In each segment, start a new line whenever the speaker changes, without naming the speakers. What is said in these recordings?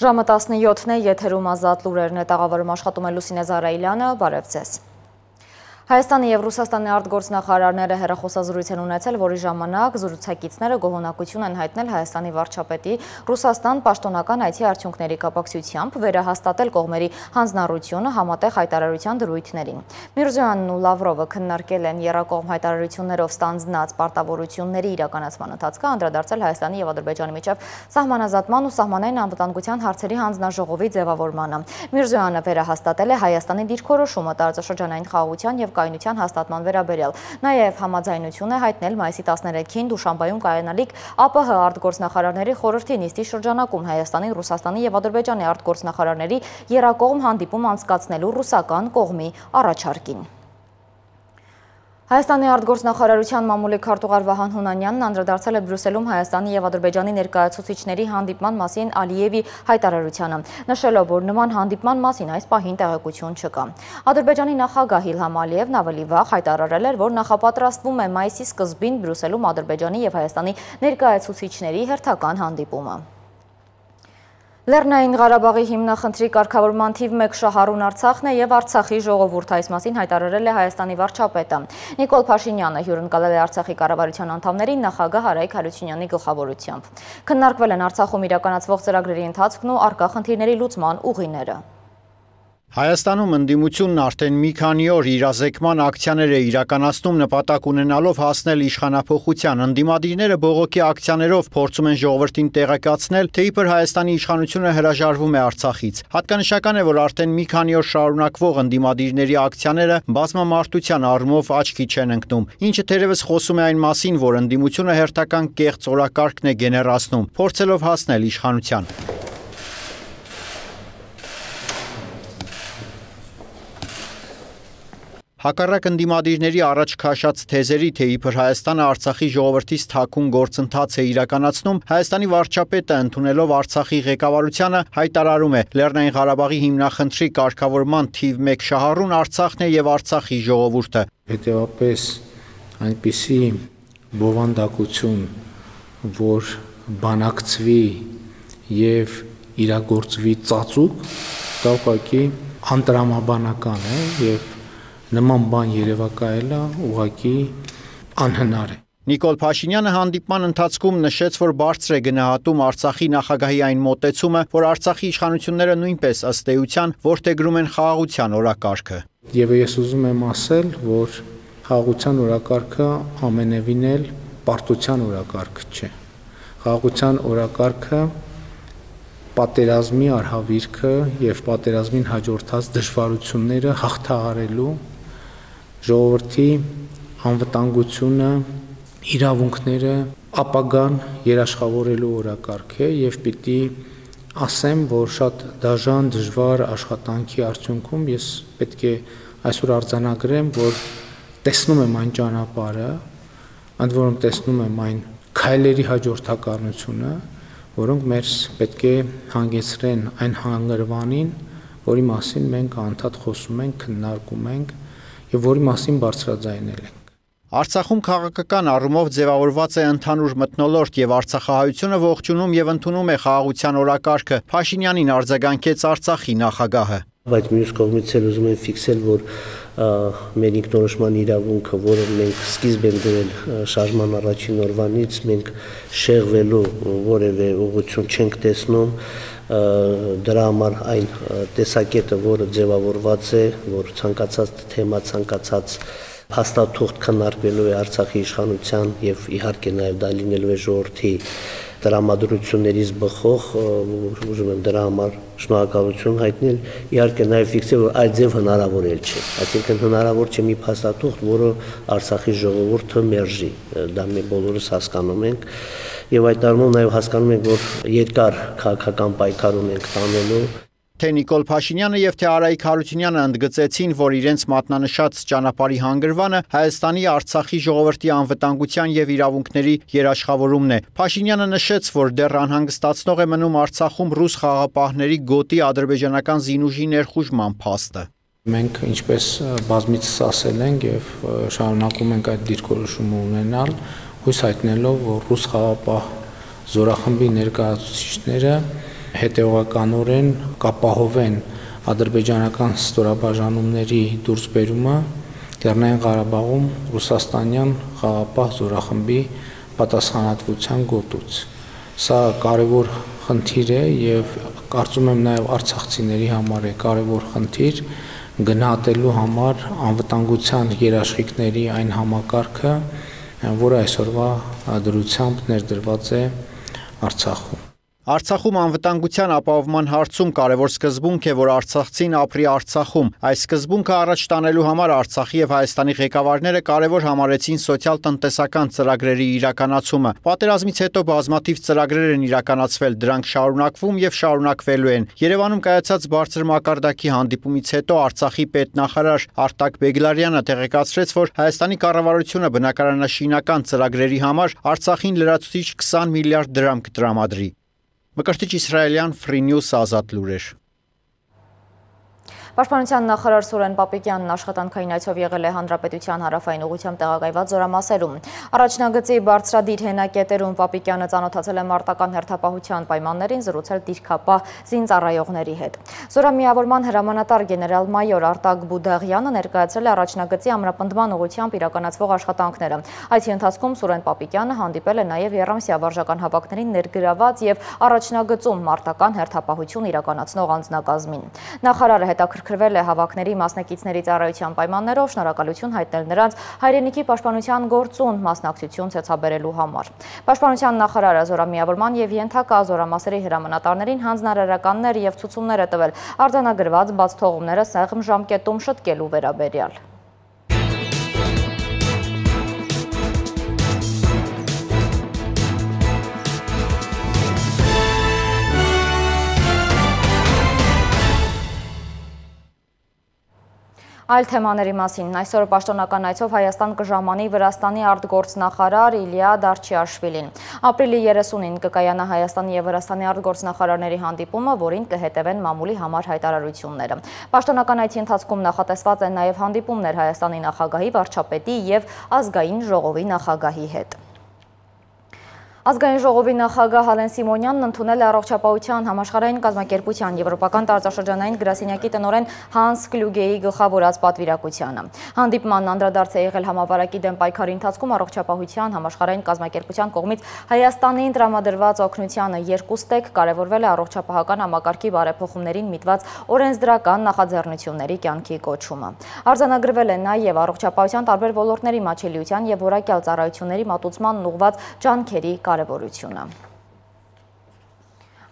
Ժամը 17-ն է, եթերում ազատ լուրերն է, տաղավարում աշխատում է Լուսինե Զարայիլյանը, բարև ձեզ։ Հայաստանի և Ռուսաստանի արտգործնախարարները հեռախոսազրույց են ունեցել, որի ժամանակ զրուցակիցները գոհունակություն են հայտնել Հայաստանի վարչապետի Ռուսաստան պաշտոնական այցի արդյունքների կապակցությամբ վերահաստատել կողմերի հանձնառությունը համատեղ հայտարարության դրույթներին։ Միրզոյանն ու Լավրովը քննարկել են եռակողմ հայտարարություններով ստանձնած պարտավորությունների իրականացման ընթացքը, անդրադարձել Հայաստանի և Ադրբեջանի միջև սահմանազատման ու սահմանային անվտանգության հարցերի հանձնաժողովի ձևավորմանը։ Միրզոյանը վերահաստատել է Հայաստանի դիրքորոշումը տարածաշրջանային խաղաղության և կայունության հաստատման վերաբերյալ։ Նաև համաձայնություն է հայտնել մայիսի 13-ին Դուշանբեում կայանալիք ԱՊՀ արտգործնախարարների խորհրդի նիստի շրջանակում Հայաստանի, Ռուսաստանի և Ադրբեջանի արտգործնախարարների եռակողմ հանդիպում անցկացնելու ռուսական կողմի առաջարկին։ Հայաստանի արտգործնախարարության մամուլի քարտուղար Վահան Հունանյանն անդրադարձել է Բրյուսելում Հայաստանի և Ադրբեջանի ներկայացուցիչների հանդիպման մասին Ալիևի հայտարարությանը, նշելով, որ նման հանդիպման մասին այս պահին տեղեկություն չկա։ Ադրբեջանի նախագահ Իլհամ Ալիևն ավելի վաղ հայտարարել էր, որ նախապատրաստվում է մայիսի սկզբին Բրյուսելում Ադրբեջանի և Հայաստանի ներկայացուցիչների հերթական հանդիպումը։ Լեռնային Ղարաբաղի հիմնախնդրի կարգավորման թիվ 1 շահառուն Արցախն է և Արցախի ժողովուրդը, այս մասին հայտարարել է Հայաստանի վարչապետը։ Նիկոլ Փաշինյանը հյուրընկալել է Արցախի կառավարության անդամներին նախագահ Արայք Հարությունյանի գլխավորությամբ։ Քննարկվել են Արցախում իրականացվող ծրագրերի ընթացքն ու առկա խնդիրների լուծման ուղիները։
Հայաստանում ընդդիմությունն արդեն մի քանի օր իրազեկման ակցիաներ է իրականացնում նպատակ ունենալով հասնել իշխանափոխության։ Ընդդիմադիրները բողոքի ակցիաներով փորձում են ժողովրդին տեղեկացնել, թե իբր Հայաստանի իշխանությունը հրաժարվում է Արցախից։ Հատկանշական է, որ արդեն մի քանի օր շարունակվող ընդդիմադիրների ակցիաները բազմամարտության առումով աչքի չեն ընկնում, ինչը թերևս խոսում է այն մասին, որ ընդդիմությունը հերթական կեղծ օրակարգն է գեներացնում, փորձելով հասնել իշխանության։ Հակառակ ընդդիմադիրների առաջ քաշած թեզերի, թե իբր Հայաստանը Արցախի ժողովրդից թաքուն գործընթաց է իրականացնում, Հայաստանի վարչապետը ընդունելով Արցախի ղեկավարությանը հայտարարում է. Լեռնային Ղարաբաղի հիմնախնդրի կարգավորման թիվ 1 շահառուն Արցախն է և Արցախի ժողովուրդը։
Հետևաբար այնպիսի բովանդակություն, որ բանակցվի և իրագործվի ծածուկ, դա ուղղակի անտրամաբանական է և նման բան երևակայելը ուղղակի անհնար է։
Նիկոլ Փաշինյանը հանդիպման ընթացքում նշեց, որ բարձր է գնահատում Արցախի նախագահի այն մոտեցումը, որ Արցախի իշխանությունները նույնպես ըստ էության որդեգրում են խաղաղության օրակարգը։
Եվ ես ուզում եմ ասել, որ խաղաղության օրակարգը ամենևին էլ պարտության օրակարգ չէ։ Խաղաղության օրակարգը պատերազմի արհավիրքը և պատերազմին հաջորդած դժվարությունները հաղթահարելու, ժողովրդի անվտանգությունը, իրավունքները ապագան երաշխավորելու օրակարգ է և պիտի ասեմ, որ շատ դաժան, դժվար աշխատանքի արդյունքում ես պետք է այսօր արձանագրեմ, որ տեսնում եմ այն ճանապարհը, ընդ որում տեսնում եմ այն քայլերի հաջորդականությունը, որոնք մեզ պետք է հանգեցրեն այն հանգրվանին, որի մասին մենք անդադ խոսում ենք, քննարկում ենք և որի մասին բարձրաձայնել ենք։
Արցախում քաղաքական առումով ձևավորված է ընդհանուր մթնոլորտ և արցախահայությունը ողջունում և ընդունում է խաղաղության օրակարգը, Փաշինյանին արձագանքեց Արցախի նախագահը։
Բայց մյուս կողմից էլ ուզում եմ ֆիքսել, որ մեր ինքնորոշման իրավունքը, որը մենք սկիզբ ենք դրել շարժման առաջին օրվանից, մենք շեղվելու որևէ ուղղություն չենք տեսնում, դրա համար այն տեսակետը, որը ձևավորված է, որ ցանկացած թեմա, ցանկացած փաստաթուղթ քննարկվելու է Արցախի իշխանության եւ իհարկե նաեւ դա լինելու է ժողովրդի տրամադրություններից բխող, ուզում եմ դրա համար շնորհակալություն հայտնել, իհարկե նաև ֆիքսել, որ այդ ձև հնարավոր էլ չէ, այսինքն հնարավոր չէ մի փաստաթուղթ, որը Արցախի ժողովուրդը մերժի, դա մենք բոլորս հասկանում ենք, եւ այդ առումով նաև հասկանում ենք, որ երկար քաղաքական պայքար ունենք տանելու։
Թե Նիկոլ Փաշինյանը եւ թե Արայիկ Հարությունյանը ընդգծեցին, որ իրենց մատնանշած ճանապարհի հանգրվանը Հայաստանի Արցախի ժողովրդի անվտանգության եւ իրավունքների երաշխավորումն է։ Փաշինյանը նշեց, որ դեռ անհանգստացնող է մնում Արցախում ռուս խաղաղապահների գոտի ադրբեջանական զինուժի ներխուժման փաստը։
Մենք ինչպես բազմիցս ասել ենք եւ շարունակում ենք այդ դիրքորոշումը ունենալ, հույս հայտնելով, որ ռուս խաղաղապահ զորախմբի ներկայացուցիչները հետևականորեն կապահովեն ադրբեջանական ստորաբաժանումների դուրսբերումը Լեռնային Ղարաբաղում ռուսաստանյան խաղաղապահ զորախմբի պատասխանատվության գոտուց։ Սա կարևոր խնդիր է եւ կարծում եմ նաեւ արցախցիների համար է կարևոր խնդիր գնահատելու համար անվտանգության երաշխիքների այն համակարգը, որը այսօրվա դրությամբ ներդրված է Արցախում։
Արցախում անվտանգության ապահովման հարցում կարևոր սկզբունք է, որ արցախցին ապրի Արցախում։ Այս սկզբունքը առաջ տանելու համար Արցախի եւ Հայաստանի ղեկավարները կարևոր համարեցին սոցիալ-տնտեսական ծրագրերի իրականացումը։ Պատերազմից հետո բազմաթիվ ծրագրեր են իրականացվել, դրանք շարունակվում եւ շարունակվելու են։ Երևանում կայացած բարձր մակարդակի հանդիպումից հետո Արցախի պետնախարար Արտակ Բեգլարյանը տեղեկացրեց, որ Հայաստանի կառավարությունը բնակարանաշինական ծրագրերի համար Արցախին լրացուցիչ 20 միլիարդ դրամ կտրամադրի։ Մկրտիչ Իսրայելյան Free News ազատ լուրեր։
Պաշտպանության նախարար Սուրեն Պապիկյանն աշխատանքային այցով եղել է Հանրապետության հարավային ուղղությամբ տեղակայված զորամասերում։ Առաջնագծի բարձրադիր հենակետերում Պապիկյանը ծանոթացել է մարտական հերթապահության պայմաններին, զրուցել դիրքապահ զինծառայողների հետ։ Զորամիավորման հրամանատար գեներալ-մայոր Արտակ Բուդաղյանը ներկայացրել է առաջնագծի ամրապնդման ուղղությամբ իրականացվող աշխատանքները։ Այցի ընթացքում Սուրեն Պապիկյանը հանդիպել է նաև Եռամսյա վարժական հավաքներին ներգրաված եւ առաջնագծում մարտական հերթապահություն իրականացնող անձնակազմին։ Նախարարը հետաքրքրվել է հավաքների մասնակիցների ծառայության պայմաններով, շնորհակալություն հայտնել նրանց հայրենիքի պաշտպանության գործուն մասնակցություն ցեցաբերելու համար։ Պաշտպանության նախարարը զորամիավորման եւ ենթակա զորամասերի հրամանատարներին հանձնարարականներ եւ ցուցումներ է տվել արձանագրված բացթողումները սեղմ ժամկետում շտկելու վերաբերյալ։ Այլ թեմաների մասին այսօր պաշտոնական այցով Հայաստան կժամանի Վրաստանի արտգործնախարար Իլիա Դարչիաշվիլին։ Ապրիլի 30-ին կկայանա Հայաստանի եւ Վրաստանի արտգործնախարարների հանդիպումը, որին կհետևեն մամուլի համար հայտարարությունները։ Պաշտոնական այցի ընթացքում նախատեսված են նաեւ հանդիպումներ Հայաստանի նախագահի, վարչապետի եւ ազգային ժողովի նախագահի հետ։ Ազգային ժողովի նախագահ Հալեն Սիմոնյանն ընդունել է առողջապահության համաշխարհային կազմակերպության եվրոպական տարածաշրջանային գրասենյակի տնօրեն Հանս Կլյուգեի գլխավորած պատվիրակությանը։ Հանդիպմանն անդրադարձ է եղել համավարակի դեմ պայքարի ընթացքում առողջապահության համաշխարհային կազմակերպության կողմից Հայաստանին տրամադրված օգնությանը երկուստեք կարևորվել է առողջապահական համակարգի բարեփոխումներին միտված օրենսդրական նախաձեռնությունների կյանքի կոչումը։ Արձանագրվել է նաև առողջապահության տարբեր ոլորտների մատչելիության եւ որակյալ ծառայությունների մատուցմանն ուղղված ջանքերի կարևորությունը։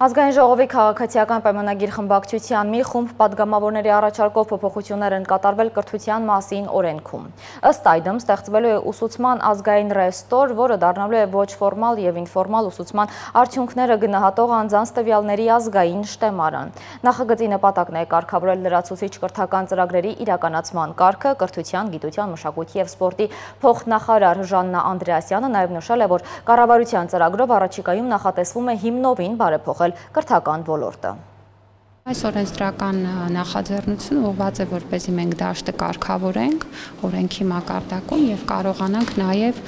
Ազգային ժողովի քաղաքացիական պայմանագիր խմբակցության մի խումբ պատգամավորների առաջարկով փոփոխություններ են կատարվել կրթության մասին օրենքում։ Ըստ այդմ ստեղծվելու է ուսուցման ազգային ռեստոր, որը դառնալու է ոչ ֆորմալ եւ ինֆորմալ ուսուցման արդյունքները գնահատող անձանց տվյալների ազգային շտեմարան։ Նախագծի նպատակն է կարգավորել լրացուցիչ կրթական ծրագրերի իրականացման կարգը։ Կրթության, գիտության, մշակույթի եւ սպորտի փոխնախարար Ժաննա Անդրեասյանը նաեւ նշել է, որ կառավարության ծրագրով առաջիկայում նախատեսվում է հիմնովին բարեփոխել կրթական ոլորտը։
Այս օրենսդրական նախաձեռնությունը ուղղված է, որպեսզի մենք դաշտը կարգավորենք օրենքի մակարդակում եւ կարողանանք նաեւ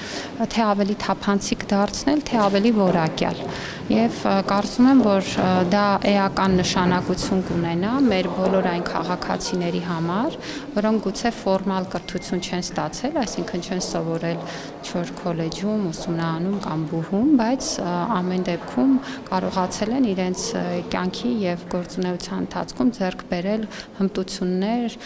թե ավելի թափանցիկ դարձնել, թե ավելի որակյալ։ Եվ կարծում եմ, որ դա էական նշանակություն կունենա մեր բոլոր այն քաղաքացիների համար, որոնք գուցե ֆորմալ կրթություն չեն ստացել, այսինքն չեն սովորել չոր քոլեջում, ուսումնարանում կամ բուհում, բայց ամեն դեպքում կարողացել են իրենց կյանքի եւ գործունեության ընթացքում ձեռք բերել հմտություններ,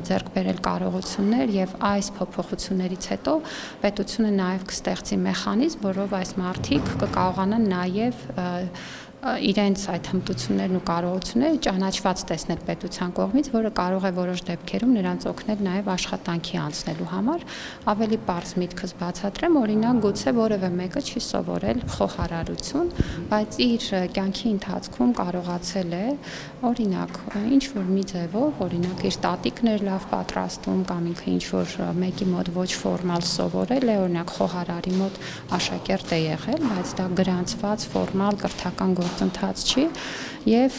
ձեռք բերել կարողություններ եւ այս փոփոխություններից հետո պետությունը նաեւ կստեղծի մեխանիզմ, որով այս մարդիկ կկարողանան նաեւ իրենց այդ հմտություններն ու կարողությունները ճանաչված տեսնել պետության կողմից, որը կարող է որոշ դեպքերում նրանց օգնել նաև աշխատանքի անցնելու համար։ Ավելի պարզ միտքս բացատրեմ, օրինակ գուցե որևէ մեկը չի սովորել խոհարարություն, բայց իր կյանքի ընթացքում կարողացել է, օրինակ, ինչ որ մի ձևով, օրինակ իր տատիկներ լավ պատրաստում կամ ինքը ինչ որ մեկի մոտ ոչ ֆորմալ սովորել է, օրինակ խոհարարի մոտ աշակերտ է եղել, բայց դա գրանցված ֆորմալ կրթական գործընթաց չի եւ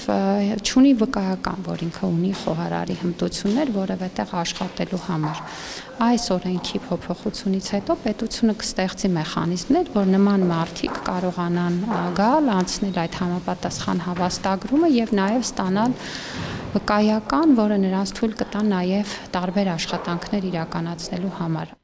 չունի վկայական, որ ինքը ունի խոհարարի հմտություններ որևէ տեղ աշխատելու համար։ Այս օրենքի փոփոխությունից հետո պետությունը կստեղծի մեխանիզմներ, որ նման մարդիկ կարողանան գալ, անցնել այդ համապատասխան հավաստագրումը եւ նաեւ ստանալ վկայական, որը նրանց թույլ կտա նաեւ տարբեր աշխատանքներ իրականացնելու համար։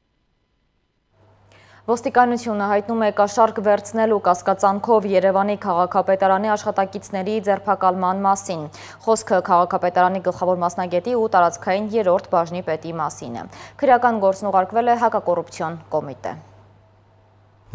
Ոստիկանությունը հայտնում է կաշառք վերցնելու կասկածանքով Երևանի քաղաքապետարանի աշխատակիցների ձերբակալման մասին։ Խոսքը քաղաքապետարանի գլխավոր մասնագետի ու տարածքային 3-րդ բաժնի պետի մասին է։ Քրեական գործն ուղարկվել է հակակոռուպցիոն կոմիտե։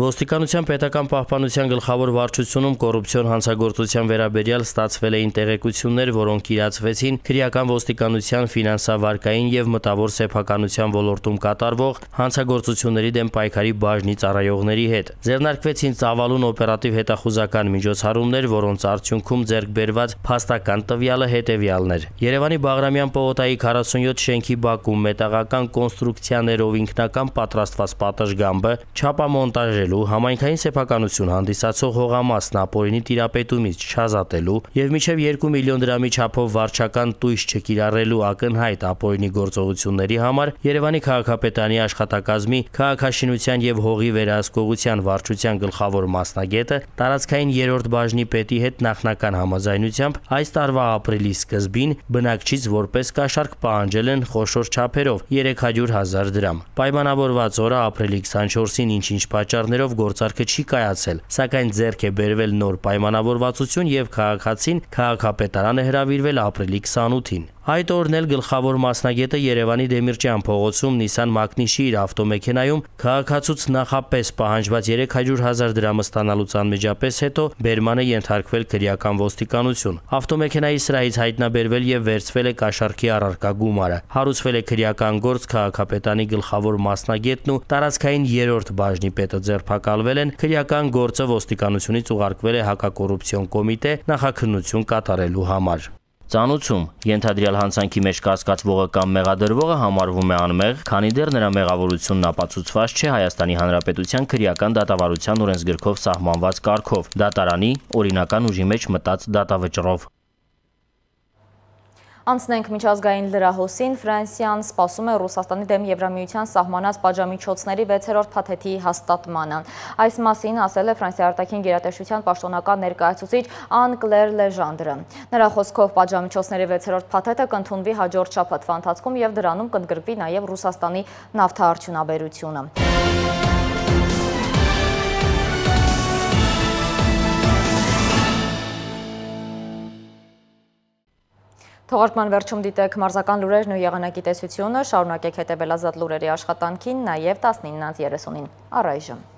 Ոստիկանության պետական պահպանության գլխավոր վարչությունում կոռուպցիոն հանցագործության վերաբերյալ ստացվել էին տեղեկություններ, որոնք իրացվեցին քրեական ոստիկանության ֆինանսավարկային եւ մտավոր սեփականության ոլորտում կատարվող հանցագործությունների դեմ պայքարի բաժնի ծառայողների հետ։ Ձեռնարկվեցին ծավալուն օպերատիվ հետախուզական միջոցառումներ, որոնց արդյունքում ձեռք բերված փաստական տվյալը հետեւյալն էր։ Երևանի Բաղրամյան պողոտայի 47 շենքի բակում մետաղական կոնստրուկցիաներով ինքնական պատրաստված պատշգամբը չափամոնտաժ համայնքային սեփականություն հանդիսացող հողամասն ապօրինի տիրապետումից չազատելու եւ մինչեւ 2 միլիոն դրամի չափով վարչական տույժ չկիրառելու ակնհայտ ապօրինի գործողությունների համար Երևանի քաղաքապետարանի աշխատակազմի քաղաքաշինության եւ հողի վերահսկողության վարչության գլխավոր մասնագետը տարածքային 3-րդ բաժնի պետի հետ նախնական համաձայնությամբ այս տարվա ապրիլի սկզբին բնակչից որպես կաշառք պահանջել են խոշոր չափերով 300,000 դրամ։ Պայմանավորված օրը ապրիլի 24-ին ինչ պատճառներով գործարքը չի կայացել, սակայն ձեռք է բերվել նոր պայմանավորվածություն եւ քաղաքացին քաղաքապետարանը հրավիրվել ապրիլի 28-ին։ Այդ օրն էլ գլխավոր մասնագետը Երևանի Դեմիրճյան փողոցում Nissan Magnitschi իր ավտոմեքենայում քաղաքացուց նախապես պահանջված 300,000 դրամը ստանալուց անմիջապես հետո բերման է ենթարկվել քրեական ոստիկանություն։ Ավտոմեքենայի սրահից հայտնաբերվել եւ վերցվել է կաշառքի առարկա գումարը։ Հարուցվել է քրեական գործ, քաղաքապետարանի գլխավոր մասնագետն ու տարածքային 3-րդ բաժնի պետը ձերբակալվել են, քրեական գործը ոստիկանությունից ուղարկվել է հակակոռուպցիոն կոմիտե նախաքննություն կատարելու համար։ Ծանուցում ենթադրյալ հանցանքի մեջ կասկածվողը կամ մեղադրվողը համարվում է անմեղ, քանի դեռ նրա մեղավորությունն ապացուցված չէ Հայաստանի Հանրապետության քրեական դատավարության օրենսգրքով սահմանված կարգով, դատարանի օրինական ուժի մեջ մտած դատավճռով։
Անցնենք միջազգային լրահոսին, Ֆրանսիան սպասում է Ռուսաստանի դեմ Եվրամիության սահմանած պատժամիջոցների 6-րդ փաթեթի հաստատմանը։ Այս մասին ասել է Ֆրանսիայի արտաքին գերատեսչության պաշտոնական ներկայացուցիչ Ան Կլեր Լեժանդրը։ Նրա խոսքով պատժամիջոցների 6-րդ փաթեթը կընդունվի հաջորդ շաբաթվա ընթացքում եւ դրանում կընդգրկվի նաեւ Ռուսաստանի նավթարդյունաբերությունը։ Թողարկման վերջում դիտեք մարզական լուրերն ու եղանակի տեսությունը, շարունակեք հետևել Ազատ լուրերի աշխատանքին, նաև 19:30-ին առայժմ։